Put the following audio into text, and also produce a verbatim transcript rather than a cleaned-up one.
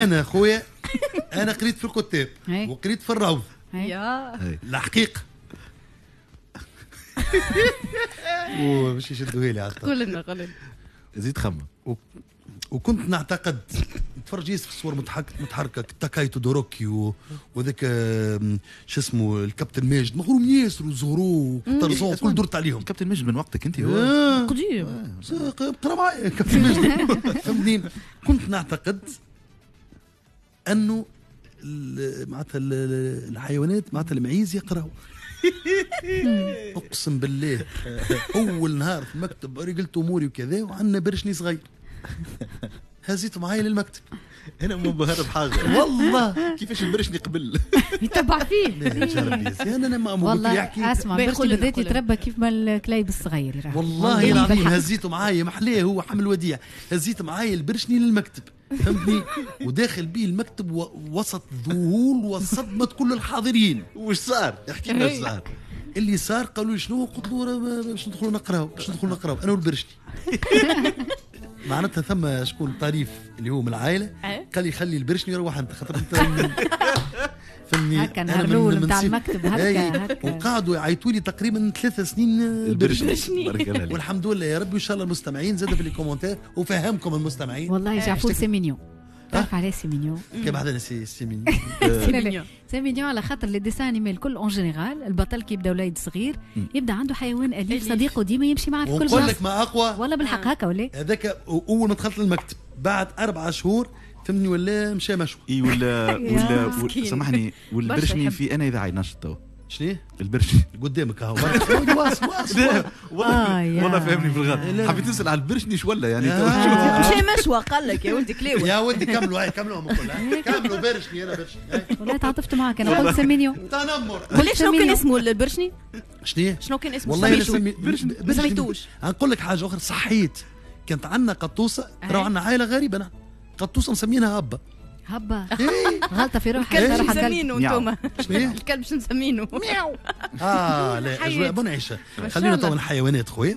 انا خويا انا قريت في الكتاب إيه. وقريت في الروض. يا الحقيقة وباش يشدوها لي. قول لنا قول لنا. زيد خمم. وكنت نعتقد نتفرج في الصور متحركة تاكاي تودوروكي وذاك شو اسمه الكابتن ماجد، مغروم ياسر وزورو وطرزون كل درت عليهم. الكابتن ماجد من وقتك انت هو آه. قديم. قرا معايا الكابتن ماجد. فهمتني؟ كنت نعتقد انه معناتها الحيوانات معناتها المعيز يقراوا. اقسم بالله اول نهار في المكتب رجلت اموري وكذا وعندنا برشني صغير هزيته معايا للمكتب. انا منبهر بحاجة والله. كيفاش البرشني قبل يتبع فيه. انا ما والله يحكي. اسمع برشني بدات يتربى كيف ما الكليب الصغير. والله العظيم هزيته معايا محلاه هو حمل وديع. هزيت معايا البرشني للمكتب فهمتني، وداخل بيه المكتب وسط ذهول وصدمة كل الحاضرين. وش صار؟ احكي لنا ايش صار. اللي صار قالوا لي شنو؟ قلت له باش ندخلوا نقراو، باش ندخلوا نقراو انا والبرشني. معناتها ثم شكون طريف اللي هو من العائلة قال لي خلي البرشني يروح انت خاطر انت فهمني. هكا نهار الاول نتاع المكتب هكا هكا. وقعدوا يعيطوا لي تقريبا ثلاث سنين البرشني. والحمد لله يا ربي. وان شاء الله المستمعين زاد في les commentaires وفهمكم المستمعين. والله جعفور c'est mignon. تعرف عليه c'est mignon؟ كيف بعدنا c'est c'est mignon. c'est mignon على خاطر les dessins animés الكل en général البطل كي يبدا وليد صغير يبدا عنده حيوان اليف صديقه ديما يمشي معاه في كل بلاصة. ونقول لك ما اقوى والله بالحق هكا ولا هذاك. اول ما دخلت للمكتب بعد اربع شهور فهمني ولا مشى مشوى. اي ولا ولا سامحني والبرشني في انا اذاعي نشط تو. شنو؟ البرشني قدامك اهو. واصل واصل والله والله فهمني في الغلط. حبيت تسال على البرشني شو ولا يعني مشى مشوى قال لك يا ولدي كلاوه. يا ولدي كملوا كملوا الكل كملوا برشني انا برشني. والله تعاطفت معك انا قلت c'est mignon. تنمر. قول شنو كان اسمه البرشني؟ شنو؟ شنو كان اسمه؟ والله برشني ما سميتوش. نقول لك حاجة اخرى. صحيت كانت عندنا قطوسه، راهو عندنا عائلة غريبة نحن. قطوسه مسمينها هبه. هبه غلطه في روحك. الكلب شو مسمينه انتوما؟ الكلب شو مسمينه؟ مياو. اه لا اجواء منعشه. خلينا تو الحيوانات خويا.